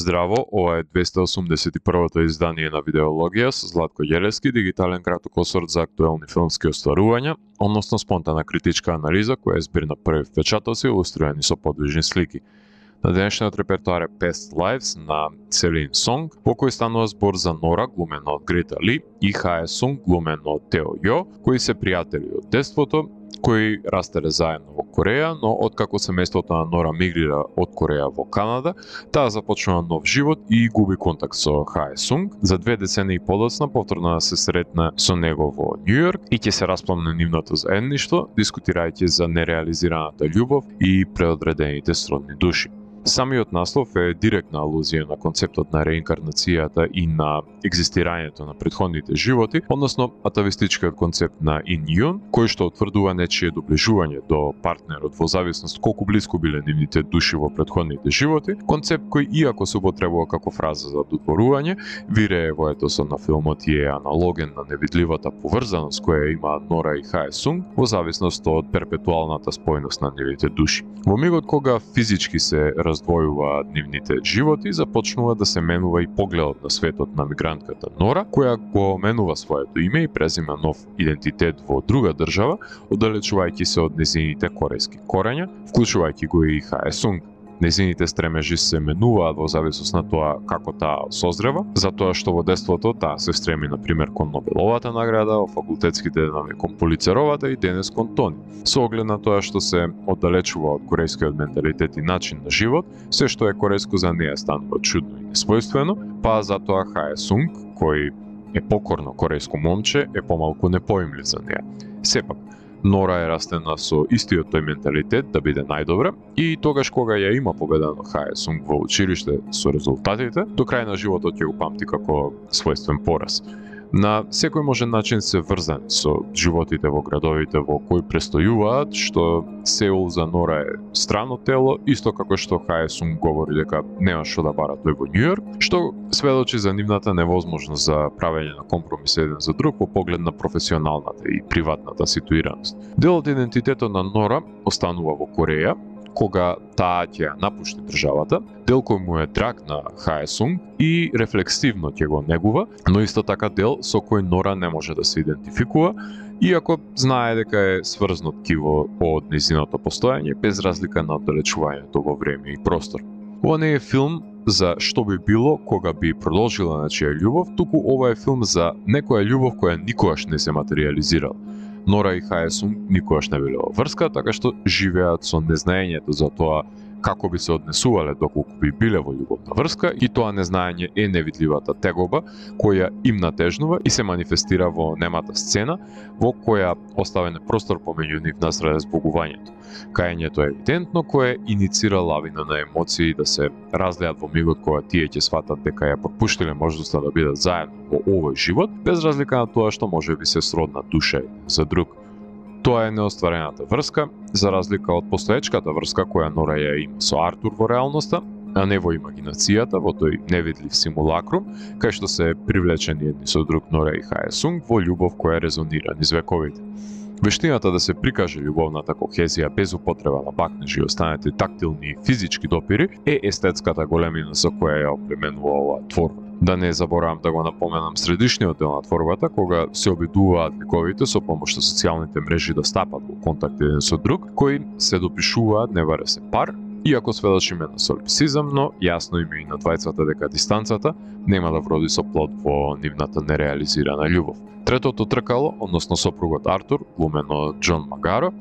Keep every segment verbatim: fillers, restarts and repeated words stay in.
Здраво, ова е двеста осумдесет и првото издание на Видеологија со Златко Ѓелевски, дигитален кратокосорт за актуелни филмски остварувања, односно спонтана критичка анализа која е збир на први впечатоци илустрирани со подвижни слики. На денешниот репертоар е Past Lives на Селин Сонг, во кој станува збор за Нора, глумена од Грета Ли, и Хаe Сунг, глумен од Тео Јо, кои се пријатели од детството, кои растеле заедно во Кореја, но откако семејството на Нора мигрира од Кореја во Канада, таа започнува нов живот и губи контакт со Хаe Сунг. За две децении подоцна повторно да се сретне со него во Њу Јорк и ќе се распламне нивното заедништво, дискутирајќи за нереализираната љубов и преодредените сродни души. Самиот наслов е директна алузија на концептот на реинкарнацијата и на екзистирањето на претходните животи, односно атавистичкиот концепт на Ин Јун, кој што утврдува нечие доближување до партнерот во зависност колку блиску биле нивните души во претходните животи, концепт кој иако се употребува како фраза за додворување, вирее во етосот на филмот и е аналоген на невидливата поврзаност која има Нора и Хаe Сунг во зависност од перпетуалната спојност на нивните души. Во мигот кога физички се раздвојуваат нивните животи, започнува да се менува и погледот на светот на мигрантката Нора, која го менува своето име и презима нов идентитет во друга држава, оддалечувајќи се од незините корејски корења, вклучувајќи го и Хаe Сунг. Незините стремежи се менуваат во зависност на тоа како таа созрева, затоа што во детството таа се стреми на пример кон Нобеловата награда, во факултетските динами кон Пулицеровата и денес кон Тони. Со оглед на тоа што се оддалечува од корејскиот менталитет и начин на живот, се што е корејско за неја станува чудно и несвојствено, па затоа Хаe Сунг, кој е покорно корејско момче, е помалку непоимлив за неја. Сепак, Нора е растена со истиот тој менталитет да биде најдобра и тогаш кога ја има победено Хаe Сунг во училиште со резултатите, до крај на животот ќе го памти како својствен пораз. На секој можен начин се врзани со животите во градовите во кои престојуваат, што Сеул за Нора е странно тело, исто како што Хаe Сунг говори дека нема што да бара тој во Њу Јорк, што сведочи за нивната невозможност за правење на компромис еден за друг во поглед на професионалната и приватната ситуираност. Дел од идентитетот на Нора останува во Кореја, кога таа ќе ја напушти државата, дел кој му е драг на Хаe Сунг и рефлексивно ќе го негува, но исто така дел со кој Нора не може да се идентификува, иако знае дека е сврзнат киво од незиното постојање без разлика на оддалечувањето во време и простор. Ова не е филм за што би било кога би продолжила нечија љубов, туку ова е филм за некоја љубов која никогаш не се материјализирала. Нора и Хаe Сунг никогаш не биле во врска, така што живеат со незнаењето за тоа како би се однесувале доколку би биле во љубовна врска, и тоа незнаење е невидливата тегоба која им натежнува и се манифестира во немата сцена во која оставен е простор помеѓу нив насреде збогувањето. Кајањето е евидентно кое иницира лавина на емоции да се разлеат во мигот кога тие ќе сватат дека ја пропуштиле можноста да бидат заедно во овој живот, без разлика на тоа што може би се сродна душа за друг. Тоа е неостварената врска, за разлика од постоечката врска која Нора ја има со Артур во реалноста, а не во имагинацијата, во тој невидлив симулакрум, кај што се привлечени едни со друг Нора и Хаe Сунг во љубов која резонира низ вековите. Вештината да се прикаже љубовната кохезија без употреба на бакнежи и останати тактилни и физички допири е естетската големина со која ја опременува оваа творба. Да не заборавам да го напоменам средишниот дел на творбата, кога се обидуваат ликовите со помош на социјалните мрежи да стапат во контакт еден со друг, кои се допишуваат не варе се пар, иако сведочиме на солипсизам, но јасно им е и на двајцата дека дистанцата нема да вроди со плод во нивната нереализирана љубов. Третото тркало, односно сопругот Артур, глумен од Џон Магаро,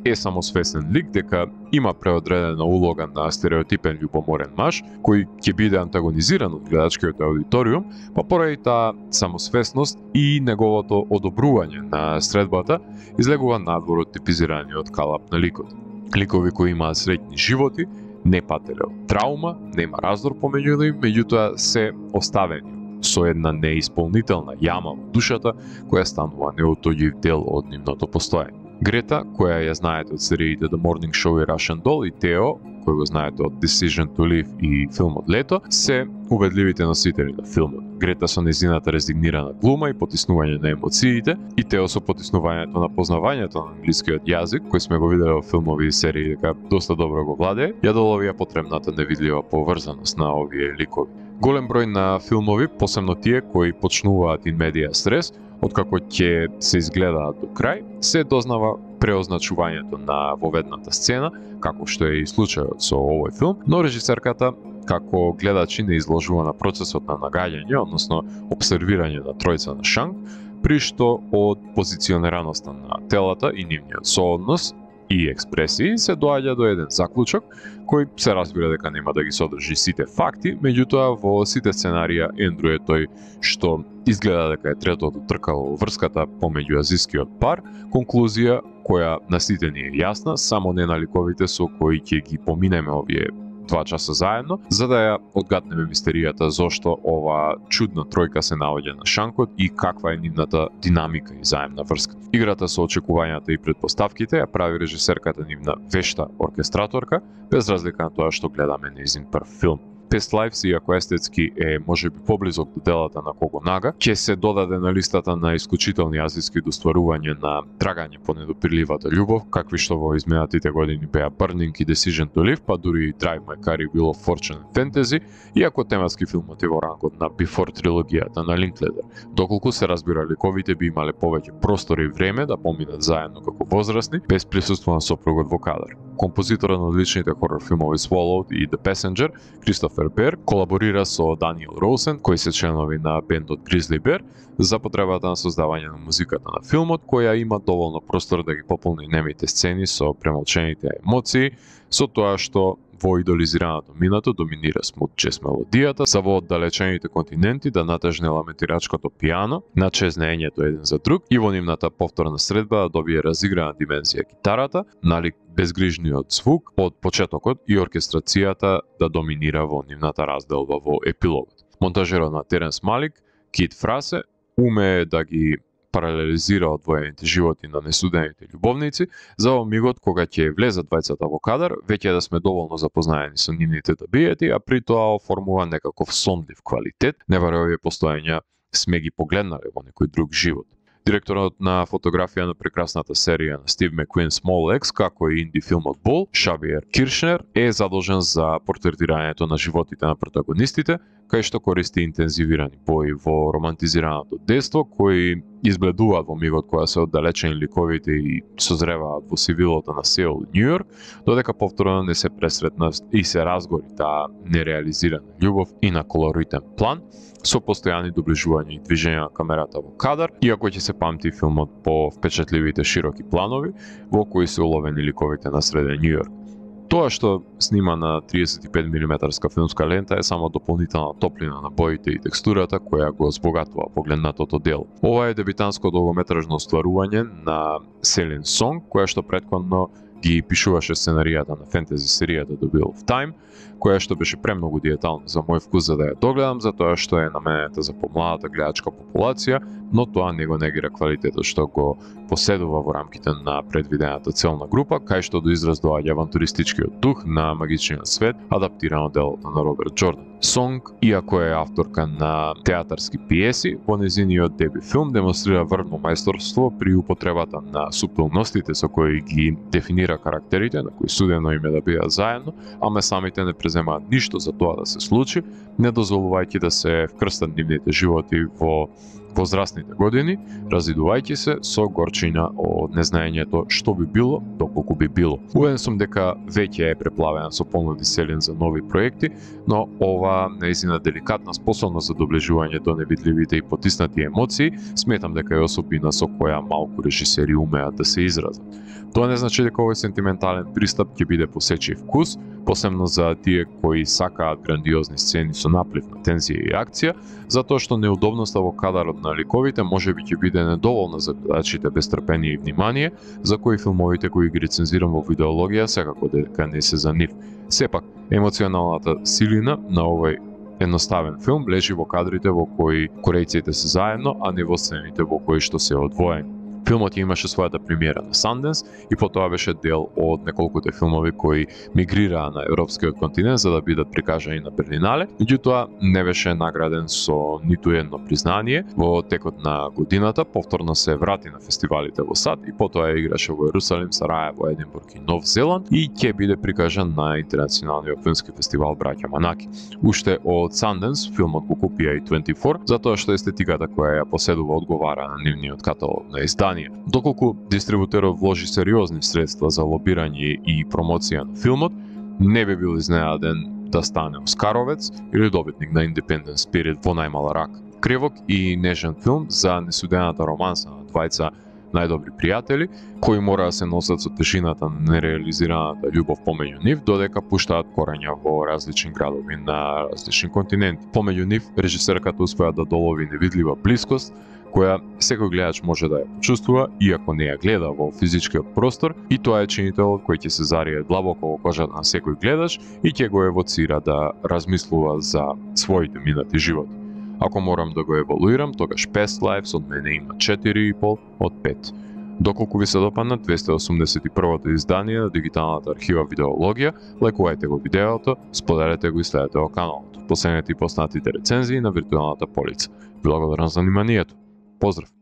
е самосвесен лик дека има преодредена улога на стереотипен љубоморен маж, кој ќе биде антагонизиран од гледачкиот аудиториум, па поради таа самосвесност и неговото одобрување на средбата излегува надвор од типизираниот калап на ликот. Ликови кои имаат среќни животи, не пателе од траума, нема раздор помеѓу нив, меѓутоа се оставени со една неисполнителна јама во душата која станува неотоѓив дел од нивното постоење. Грета, која ја знаете од сериите The Morning Show и Russian Doll, и Тео, кој го знаете од Decision to Live и филмот Лето, се убедливите носители на филмот. Грета со незината резигнирана глума и потиснување на емоциите, и Тео со потиснувањето на познавањето на англискиот јазик, кој сме го виделе во филмови и серии дека доста добро го владее, ја доловија потребната невидлива поврзаност на овие ликови. Голем број на филмови, посебно тие кои почнуваат in media стрес, откако ќе се изгледаат до крај, се дознава преозначувањето на воведната сцена, како што е и случајот со овој филм, но режисерката како гледачи не изложува на процесот на нагаѓање, односно обсервирање на тројца на Шанг, при што од позиционираноста на телата и нивниот сооднос и експресии се доаѓа до еден заклучок кој се разбира дека нема да ги содржи сите факти, меѓутоа во сите сценарија Ендру е тој што изгледа дека е третото тркало во врската помеѓу азискиот пар, конклузија која на сите ни е јасна, само не на ликовите со кои ќе ги поминеме овие два часа заедно, за да ја одгатнеме мистеријата зошто ова чудна тројка се наоѓа на Шанкот и каква е нивната динамика и заемна врска. Играта со очекувањата и предпоставките ја прави режисерката нивна вешта оркестраторка, без разлика на тоа што гледаме нејзин прв филм. Past Lives, иако естетски е можеби поблизок до делата на Когонага, ќе се додаде на листата на исклучителни азиски достварувања на трагање по недопирливата љубов, какви што во изминатите години беа Burning и Decision to Live, па дури и Drive My Car и Wheel of Fortune Fantasy, иако тематски филмот е во рангот на Before трилогијата на Линкледер. Доколку се разбира, ликовите би имале повеќе простор и време да поминат заедно како возрастни, без присуство на сопругот во кадар. Композиторот на одличните хорор филмови Swallowed и The Passenger, Кристофер Бер, колаборира со Даниел Роусен, кои се членови на бендот Grizzly Bear, за потребата на создавање на музиката на филмот, која има доволно простор да ги пополни немите сцени со премолчените емоции, со тоа што во идолизираното минато доминира смут джез мелодијата, за во оддалечените континенти да натежне ламентирачкото пијано, начезнењето еден за друг и во нивната повторна средба да добие разиграна димензија гитарата, налик безгрижниот звук од почетокот и оркестрацијата да доминира во нивната разделба во епилогот. Монтажерот на Теренс Малик, Кит Фрасе, умее да ги паралелизира одвоените животи на несудените љубовници, за во мигот кога ќе влезат двајцата во кадар, веќе да сме доволно запознаени со нивните табиети, а при тоа оформува некаков сонлив квалитет, неверојавие постоења сме ги погледнале во некој друг живот. Директорот на фотографија на прекрасната серија на Стив Маккуин Small X, како и инди филмот Бол, Шавиер Киршнер, е задолжен за портретирањето на животите на протагонистите, кај што користи интензивирани бои во романтизираното детство, кои избледуваат во мигот кога се оддалечени ликовите и созреваат во сивилото на Сеул и Њујорк, додека повторно не се пресретна и се разгори таа нереализирана љубов и на колоритен план, со постојани доближувања и движења на камерата во кадар, иако ќе се памти филмот по впечатливите широки планови во кои се уловени ликовите на среден Њујорк. Тоа што снима на триесет и пет милиметарска филмска лента е само дополнителна топлина на боите и текстурата која го збогатува погледнатото дело. Ова е дебитанско долгометражно остварување на Селин Сонг, која што претходно ги пишуваше сценаријата на фентези серијата The Wheel of Time, која што беше премногу диетална за мој вкус за да ја догледам, затоа што е наменета за помладата гледачка популација, но тоа не го негира квалитетот што го поседува во рамките на предвидената целна група, кај што до израз доаѓа авантуристичкиот дух на магичниот свет, адаптирано делото на Роберт Џордан. Сонг, иако е авторка на театарски пиеси, во незиниот деби филм демонстрира врвно мајсторство при употребата на суптилностите со кои ги дефинира карактерите, на кои судено име да бидат заедно, ама самите не преземаат ништо за тоа да се случи, не дозволувајќи да се вкрстат нивните животи во возрастните години, разидувајќи се со горчина од незнаењето што би било, доколку би било. Уверен сум дека веќе е преплавена со понуди Селин за нови проекти, но ова нејзина деликатна способност за доближување до невидливите и потиснати емоции, сметам дека е особина со која малку режисери умеат да се изразат. Тоа не значи дека овој сентиментален пристап ќе биде посечив вкус, посебно за тие кои сакаат грандиозни сцени со наплив на тензија и акција, затоа што неудобноста во кадарот на ликовите можеби ќе биде недоволна за гледачите без трпение и внимание, за кои филмовите кои ги рецензирам во видеологија секако дека не се за нив. Сепак, емоционалната силина на овој едноставен филм лежи во кадрите во кои корејците се заедно, а не во сцените во кои што се одвоени. Филмот имаше својата премиера на Sundance и потоа беше дел од неколкуте филмови кои мигрираа на европскиот континент за да бидат прикажани на Берлинале. Меѓутоа не беше награден со ниту едно признание. Во текот на годината повторно се врати на фестивалите во САД и потоа играше во Ерусалим, Сараево, Единбург и Нов Зеланд и ќе биде прикажан на Интернационалниот филмски фестивал Браќа Манаки. Уште од Sundance филмот го купи и дваесет и четири затоа што естетиката која ја поседува одговара на нивниот каталог на издание. Доколку дистрибутерот вложи сериозни средства за лобирање и промоција на филмот, не би бил изненаден да стане оскаровец или добитник на Independent Spirit во најмала рака. Кревок и нежен филм за несудената романса на двајца најдобри пријатели, кои мора да се носат со тежината на нереализираната љубов помеѓу нив, додека пуштаат корења во различни градови на различни континенти. Помеѓу нив, режисерката успеа да долови невидлива блискост, која секој гледач може да ја почувствува, иако не ја гледа во физичкиот простор, и тоа е чинителот кој ќе се зарие длабоко во кожата на секој гледач и ќе го евоцира да размислува за своите минати животи. Ако морам да го евалуирам, тогаш Past Lives од мене има четири и пол од пет. Доколку ви се допадна двеста осумдесет и првото издание на дигиталната архива Видеологија, лајкувајте го видеото, споделете го и следете го каналот. Последете и поснатите рецензии на виртуелната полица. Благодарам за вниманието. Поздрав!